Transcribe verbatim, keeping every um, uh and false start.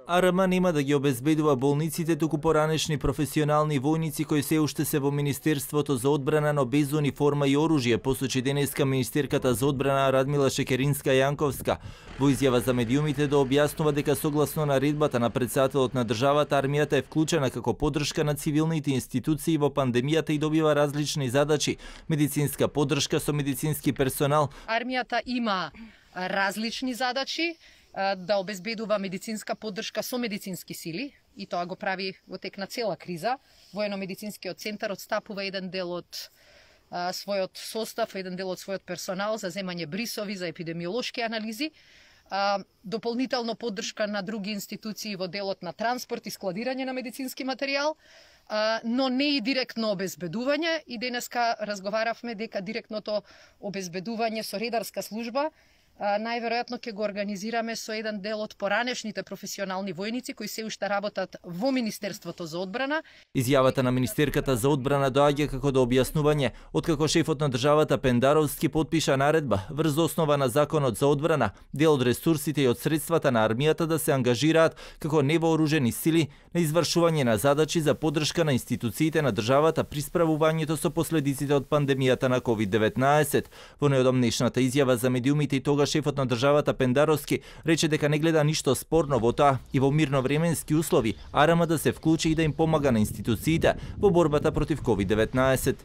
АРМ нема да ги обезбедува болниците, туку поранешни професионални војници кои се уште се во Министерството за одбрана, но без униформа и оружје, посочи денеска министерката за одбрана Радмила Шекеринска-Јанковска. Во изјава за медиумите да објаснува дека согласно наредбата на претседателот на државата, армијата е вклучена како поддршка на цивилните институции во пандемијата и добива различни задачи: медицинска поддршка со медицински персонал. Армијата има различни задачи, да обезбедува медицинска поддршка со медицински сили, и тоа го прави во тек на цела криза. Воено-медицинскиот центар отстапува еден дел од а, својот состав, еден дел од својот персонал за земање брисови, за епидемиолошки анализи, а, дополнително поддршка на други институции во делот на транспорт и складирање на медицински материјал, а, но не и директно обезбедување. И денеска разговаравме дека директното обезбедување со редарска служба најверојатно ќе го организираме со еден дел од поранешните професионални војници кои се уште работат во Министерството за одбрана. Изјавата на министерката за одбрана доаѓа како до објаснување откако шефот на државата Пендаровски потпиша наредба врз основа на Законот за одбрана, дел од ресурсите и од средствата на армијата да се ангажираат како невооружени сили на извршување на задачи за поддршка на институциите на државата при справувањето со последиците од пандемијата на ковид деветнаесет. Во неодамнешната изјава за медиумите и тога шефот на државата Пендаровски рече дека не гледа ништо спорно во тоа и во мирновременски услови АРМ да се вклучи и да им помага на институциите во борбата против ковид деветнаесет.